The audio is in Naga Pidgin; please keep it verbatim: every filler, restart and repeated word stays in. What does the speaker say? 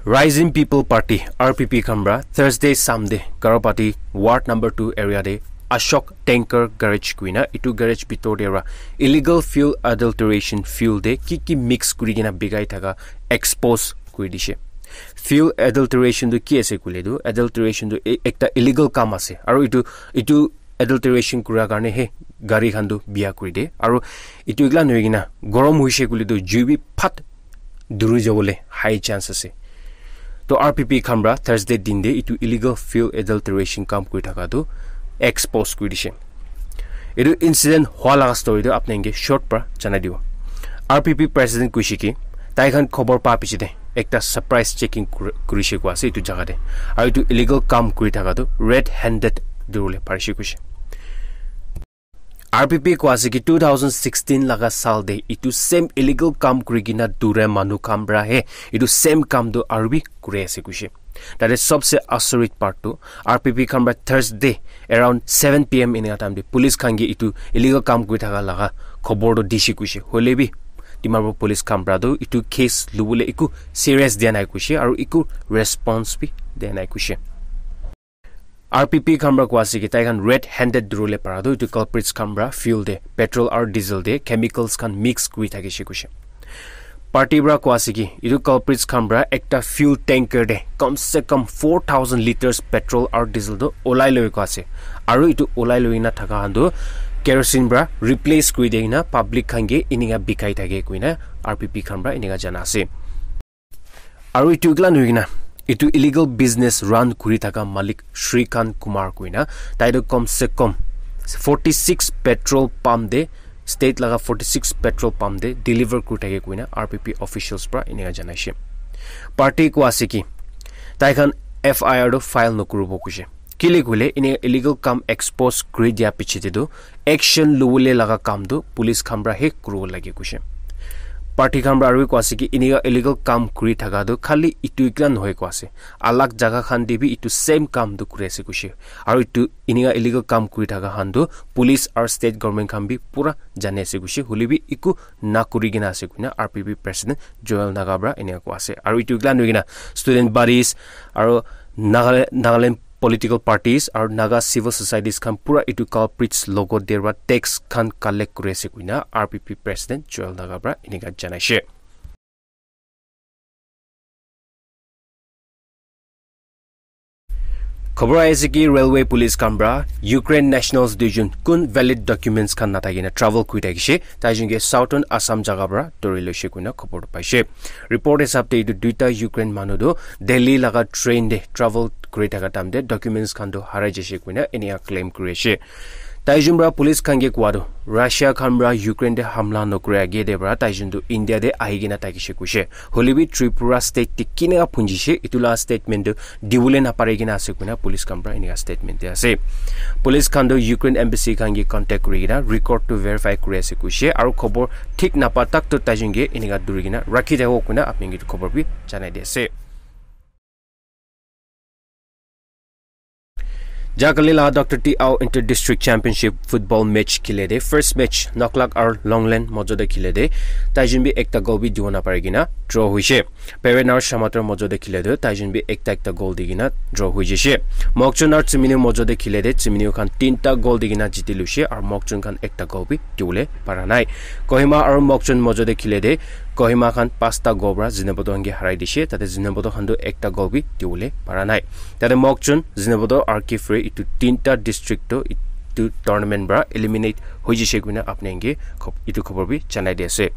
Rising People Party, R P P khan pra Thursday, Sunday, Garo Pati Ward number two area de Ashok Tanker Garage kuina, itu garage bitor de ra illegal fuel adulteration fuel de ki ki mix kuri kena bikai thaka expose kuri dishe. Fuel adulteration tu ki ase koile tu, adulteration tu e-, ekta illegal kam ase. Aru itu, itu adulteration kura karne he gari khan tu bia kuri de. Aru itu ikla nohoi kena gorom hoise koile tu jui bi phat duri jabole high chance ase. To R P P khan pra Thursday din de itu illegal fuel adulteration kam kuri thaka tu expose kuri dishe. Itu incident hua laga story tu apni ke short pra janai dibo. R P P president kuishe ki tai khan khobor pa piche de ekta surprise checking kur-, kurishe kua ase itu jaga de. Aru itu illegal kam kuri thaka tu red handed durule parishe kuishe. R P P kua ase ki two thousand sixteen laga sal de itu same illegal kam kuri kena dure manu khan pra he itu same kam tu aru bi kuri ase kuishe. Tate sobse asorit part tu R P P khan pra Thursday around seven P M in time de police khan ke itu illegal kam kuri thaka laga khobor tu dishe kuishe. Hoile bi Dimapur police khan pra tu itu case lubole iku serious dia nai kuishe aru iku response bi dia nai kuishe. R P P khan pra kua ase ki tai khan red handed durule para tu itu culprits khan pra fuel de petrol aru diesel de chemicals khan mix kuri thakishe kuishe. Party pra kua ase ki itu culprits khan pra ekta fuel tanker de kam se kam four thousand liters petrol aru diesel tu olai loi kua ase. Aru itu olai loi na thaka khan tu kerosene pra replace kuri de na public khan ke inika bikai thake kuina R P P khan pra inika jana ase. Aru itu ikla nohoi kena itu illegal business run kuri thaka malik Shrikant Kumar kuina tai tu kom se kom forty six petrol pump de state laga forty six petrol pump de deliver kuri thake kuina R P P officials pra inika janaishe. Party kua ase ki tai khan F I R tu file nokuribo kuishe. Kile koile ine illegal kam expose kuri dia piche te tu action lubole laga kam tu police khan pra he kuribo lage kuishe. Party khan pra aru kua ase ki inika illegal kam kuri thaka tu khali itu ikla nohoi kua ase. Alag jaga khan de bi itu same kam tu kuri ase kuishe. Aru itu inika illegal kam kuri thaka khan tu police aru state government khan bi pura jani ase kuishe. Hoile bi iku na kuri kena ase kuina R P P president Joel Naga pra inika kua ase. Aru itu ikla nohoi kena student bodies aru Nagale-, Nagaland political parties aru Naga civil societies khan pura itu culprits logot de ra tax khan collect kuri ase kuina R P P president Joel Naga pra inika janaishe. Khobor ahi ase ki railway police khan pra Ukraine nationals duijon kun valid documents khan nathaki na travel kuri thakishe, taijun ke Southern Assam jaga pra dori loishe kuina khobor paishe. Report hisab te itu duita Ukraine manu tu Delhi laga train de travel kuri thaka time de documents khan tu harai jaishe kuina inika claim kuri ase. Taijun pra police khan ke kua tu Russia khan pra Ukraine de hamla nokura age de pra taijun tu India de ahi kena thakishe kuishe. Hoile bi Tripura state te kina phunjishe itu la statement tu dibole napare kena ase kuina police khan pra inika statement de ase. Police khan tu Ukraine embassy khan ke contact kuri kena record tu verify kuri ase kuishe aru khobor thik napa tak tu taijun ke inika duri kena rakhi thabo kuina apni ke khobor bi janai di ase. Jakali la Doctor T Ao Inter District Championship football match khile de first match Noklak aru Longland mojo de khile de taijun bi ekta goal bi dibo napari kena draw hoishe. Peren aru Shamator mojo de khile de taijun bi ekta ekta goal di kena draw hoi jaishe. Mokchun aru Tsiminiu mojo de khile de Tsiminiu khan tinta goal di kena jiti luishe aru Mokchun khan ekta goal bi dibole para nai. Kohima aru Mokchun mojo de khile de Kohima khan pasta goal pra Zunheboto khan ke harai dishe. Tate Zunheboto khan tu ekta goal bi dibole para nai. Tate Mokchun, Zunheboto, R K Fre itu tinta district tu itu tournament pra eliminate hoi jaishe kuina apni ke khop-, itu khobor bi janai di ase.